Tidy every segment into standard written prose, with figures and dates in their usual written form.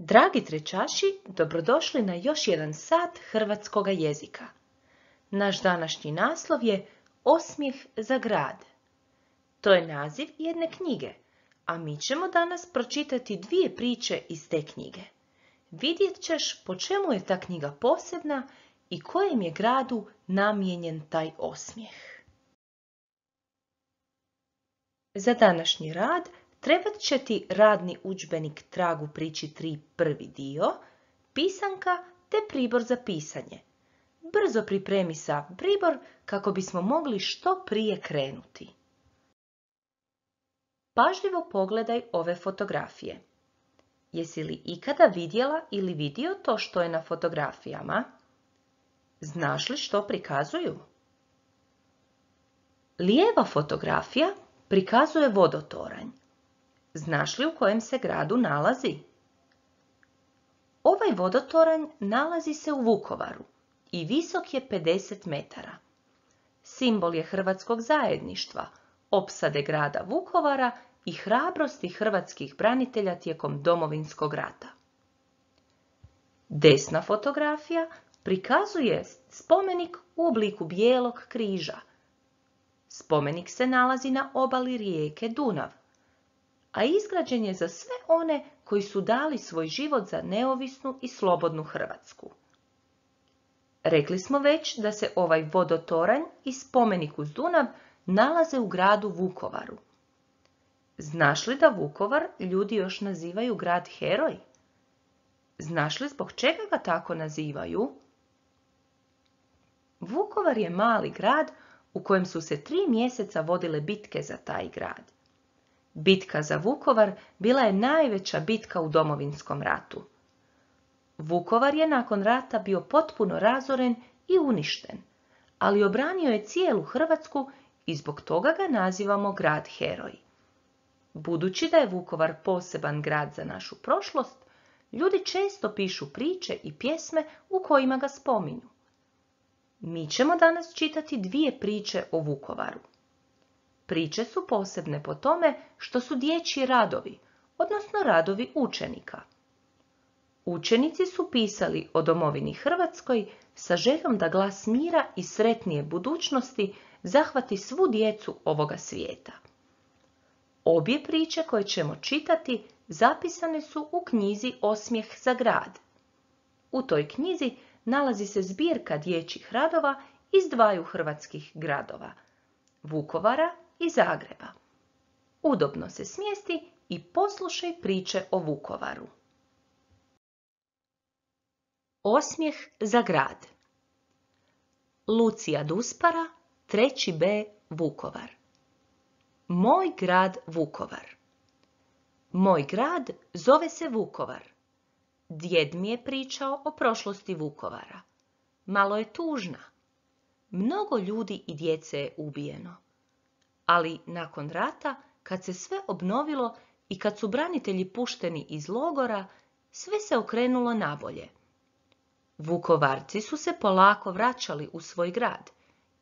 Dragi trečaši, dobrodošli na još jedan sat hrvatskoga jezika. Naš današnji naslov je Osmijeh za grad. To je naziv jedne knjige, a mi ćemo danas pročitati dvije priče iz te knjige. Vidjet ćeš po čemu je ta knjiga posebna i kojem je gradu namijenjen taj osmijeh. Za današnji rad trebat će ti radni udžbenik Trag u priči 3 prvi dio, pisanka te pribor za pisanje. Brzo pripremi sav pribor kako bismo mogli što prije krenuti. Pažljivo pogledaj ove fotografije. Jesi li ikada vidjela ili vidio to što je na fotografijama? Znaš li što prikazuju? Lijeva fotografija prikazuje vodotoranj. Znaš li u kojem se gradu nalazi? Ovaj vodotoranj nalazi se u Vukovaru i visok je 50 metara. Simbol je hrvatskog zajedništva, opsade grada Vukovara i hrabrosti hrvatskih branitelja tijekom Domovinskog rata. Desna fotografija prikazuje spomenik u obliku bijelog križa. Spomenik se nalazi na obali rijeke Dunav, a izgrađen je za sve one koji su dali svoj život za neovisnu i slobodnu Hrvatsku. Rekli smo već da se ovaj vodotoranj i spomenik uz Dunav nalaze u gradu Vukovaru. Znaš li da Vukovar ljudi još nazivaju grad heroj? Znaš li zbog čega ga tako nazivaju? Vukovar je mali grad u kojem su se 3 mjeseca vodile bitke za taj grad. Bitka za Vukovar bila je najveća bitka u Domovinskom ratu. Vukovar je nakon rata bio potpuno razoren i uništen, ali obranio je cijelu Hrvatsku i zbog toga ga nazivamo grad heroj. Budući da je Vukovar poseban grad za našu prošlost, ljudi često pišu priče i pjesme u kojima ga spominju. Mi ćemo danas čitati 2 priče o Vukovaru. Priče su posebne po tome što su dječji radovi, odnosno radovi učenika. Učenici su pisali o domovini Hrvatskoj sa željom da glas mira i sretnije budućnosti zahvati svu djecu ovoga svijeta. Obje priče koje ćemo čitati zapisane su u knjizi Osmijeh za grad. U toj knjizi nalazi se zbirka dječjih radova iz 2 hrvatskih gradova, Vukovara i Zagreba. Udobno se smjesti i poslušaj priče o Vukovaru. Osmijeh za grad. Lucija Duspara, 3. B. Vukovar. Moj grad Vukovar. Moj grad zove se Vukovar. Djed mi je pričao o prošlosti Vukovara. Malo je tužna. Mnogo ljudi i djece je ubijeno. Ali nakon rata, kad se sve obnovilo i kad su branitelji pušteni iz logora, sve se okrenulo nabolje. Vukovarci su se polako vraćali u svoj grad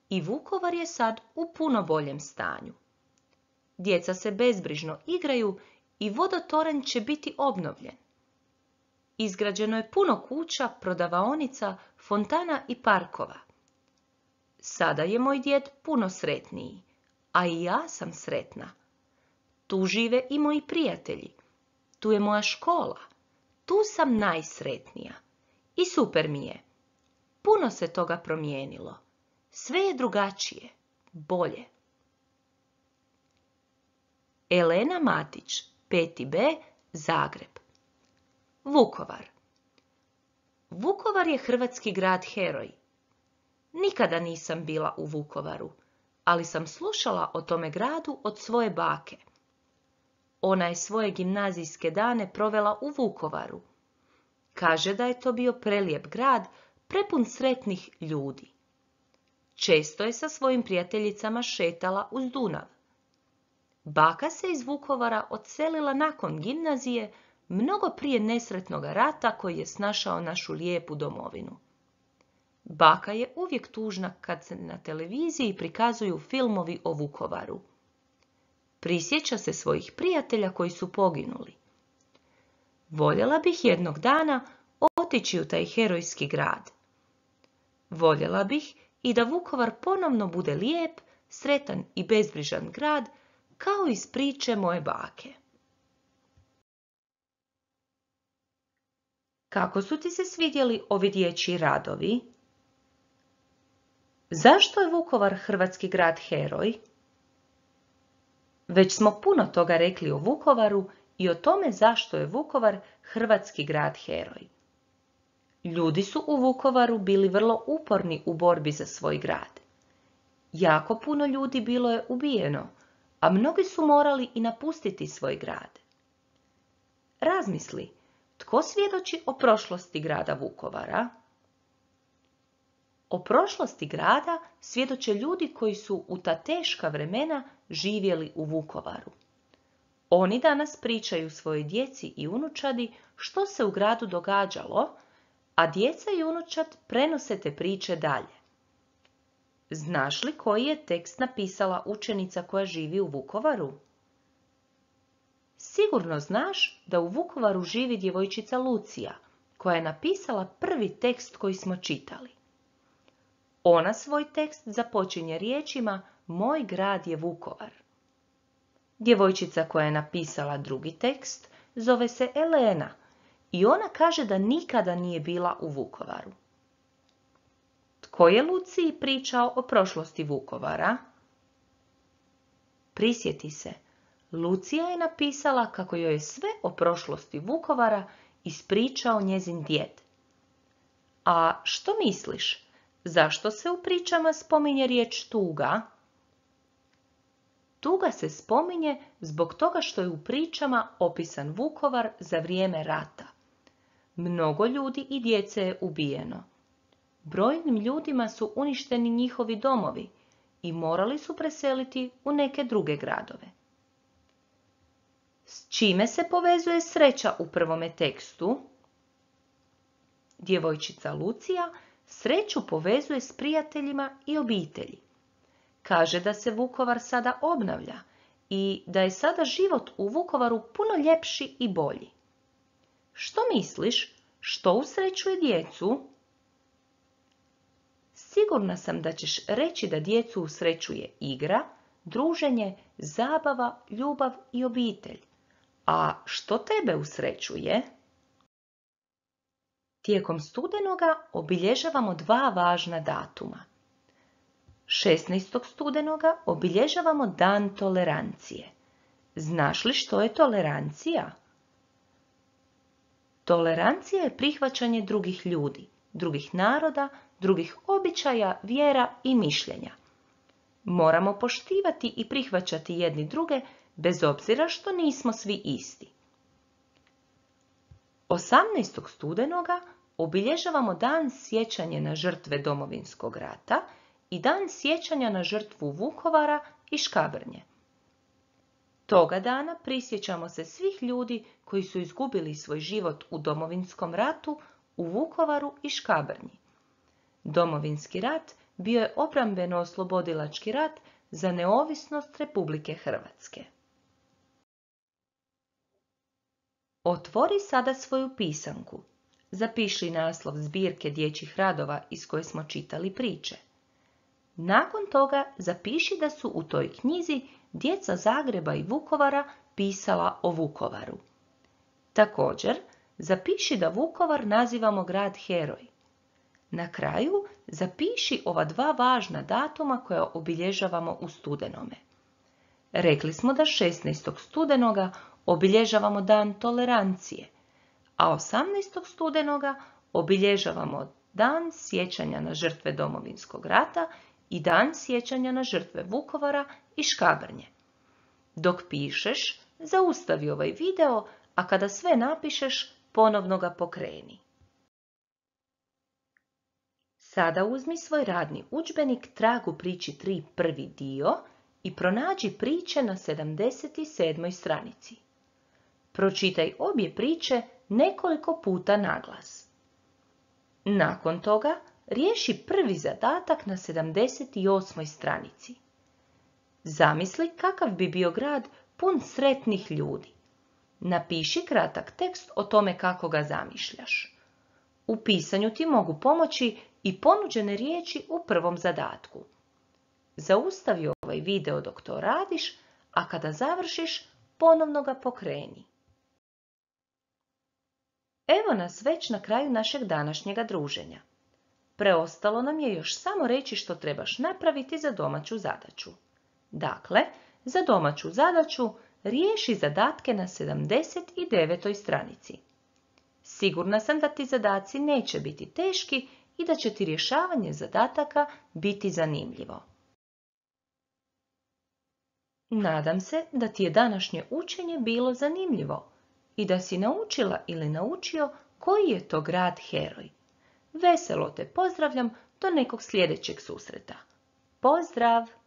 i Vukovar je sad u puno boljem stanju. Djeca se bezbrižno igraju i vodotoranj će biti obnovljen. Izgrađeno je puno kuća, prodavaonica, fontana i parkova. Sada je moj djed puno sretniji, a i ja sam sretna. Tu žive i moji prijatelji. Tu je moja škola. Tu sam najsretnija. I super mi je. Puno se toga promijenilo. Sve je drugačije, bolje. Elena Matić, 5. B, Zagreb. Vukovar. Vukovar je hrvatski grad heroj. Nikada nisam bila u Vukovaru, ali sam slušala o tome gradu od svoje bake. Ona je svoje gimnazijske dane provela u Vukovaru. Kaže da je to bio prelijep grad, prepun sretnih ljudi. Često je sa svojim prijateljicama šetala uz Dunav. Baka se iz Vukovara odselila nakon gimnazije, mnogo prije nesretnog rata koji je snašao našu lijepu domovinu. Baka je uvijek tužna kad se na televiziji prikazuju filmovi o Vukovaru. Prisjeća se svojih prijatelja koji su poginuli. Voljela bih jednog dana otići u taj herojski grad. Voljela bih i da Vukovar ponovno bude lijep, sretan i bezbrižan grad, kao iz priče moje bake. Kako su ti se svidjeli ovi dječji radovi? Zašto je Vukovar hrvatski grad heroj? Već smo puno toga rekli o Vukovaru i o tome zašto je Vukovar hrvatski grad heroj. Ljudi su u Vukovaru bili vrlo uporni u borbi za svoj grad. Jako puno ljudi bilo je ubijeno, a mnogi su morali i napustiti svoj grad. Razmisli, tko svjedoči o prošlosti grada Vukovara? O prošlosti grada svjedoče ljudi koji su u ta teška vremena živjeli u Vukovaru. Oni danas pričaju svojoj djeci i unučadi što se u gradu događalo, a djeca i unučad prenose te priče dalje. Znaš li koji je tekst napisala učenica koja živi u Vukovaru? Sigurno znaš da u Vukovaru živi djevojčica Lucija, koja je napisala prvi tekst koji smo čitali. Ona svoj tekst započinje riječima Moj grad je Vukovar. Djevojčica koja je napisala drugi tekst zove se Elena i ona kaže da nikada nije bila u Vukovaru. Tko je Luciji pričao o prošlosti Vukovara? Prisjeti se, Lucija je napisala kako joj je sve o prošlosti Vukovara ispričao njezin djed. A što misliš, zašto se u pričama spominje riječ tuga? Tuga se spominje zbog toga što je u pričama opisan Vukovar za vrijeme rata. Mnogo ljudi i djece je ubijeno. Brojnim ljudima su uništeni njihovi domovi i morali su preseliti u neke druge gradove. S čime se povezuje sreća u prvome tekstu? Djevojčica Lucija sreću povezuje s prijateljima i obitelji. Kaže da se Vukovar sada obnavlja i da je sada život u Vukovaru puno ljepši i bolji. Što misliš, što usrećuje djecu? Sigurna sam da ćeš reći da djecu usrećuje igra, druženje, zabava, ljubav i obitelj. A što tebe usrećuje? Tijekom studenoga obilježavamo dva važna datuma. 16. studenoga obilježavamo Dan tolerancije. Znaš li što je tolerancija? Tolerancija je prihvaćanje drugih ljudi, drugih naroda, drugih običaja, vjera i mišljenja. Moramo poštivati i prihvaćati jedni druge bez obzira što nismo svi isti. 18. studenoga obilježavamo Dan sjećanja na žrtve Domovinskog rata i Dan sjećanja na žrtvu Vukovara i Škabrnje. Toga dana prisjećamo se svih ljudi koji su izgubili svoj život u Domovinskom ratu, u Vukovaru i Škabrnji. Domovinski rat bio je obrambeno-oslobodilački rat za neovisnost Republike Hrvatske. Otvori sada svoju pisanku. Zapiši naslov zbirke dječjih radova iz koje smo čitali priče. Nakon toga zapiši da su u toj knjizi djeca Zagreba i Vukovara pisala o Vukovaru. Također, zapiši da Vukovar nazivamo grad heroj. Na kraju zapiši ova dva važna datuma koja obilježavamo u studenome. Rekli smo da 16. studenoga obilježavamo Dan tolerancije, a 18. studenoga obilježavamo Dan sjećanja na žrtve Domovinskog rata i Dan sjećanja na žrtve Vukovara i Škabrnje. Dok pišeš, zaustavi ovaj video, a kada sve napišeš, ponovno ga pokreni. Sada uzmi svoj radni udžbenik Trag u priči 3 prvi dio i pronađi priče na 77. stranici. Pročitaj obje priče nekoliko puta naglas. Nakon toga riješi prvi zadatak na 78. stranici. Zamisli kakav bi bio grad pun sretnih ljudi. Napiši kratak tekst o tome kako ga zamišljaš. U pisanju ti mogu pomoći i ponuđene riječi u prvom zadatku. Zaustavi ovaj video dok to radiš, a kada završiš, ponovno ga pokreni. Evo nas već na kraju našeg današnjega druženja. Preostalo nam je još samo reći što trebaš napraviti za domaću zadaću. Dakle, za domaću zadaću riješi zadatke na 79. stranici. Sigurna sam da ti zadaci neće biti teški i da će ti rješavanje zadataka biti zanimljivo. Nadam se da ti je današnje učenje bilo zanimljivo i da si naučila ili naučio koji je to grad heroj. Veselo te pozdravljam do nekog sljedećeg susreta. Pozdrav!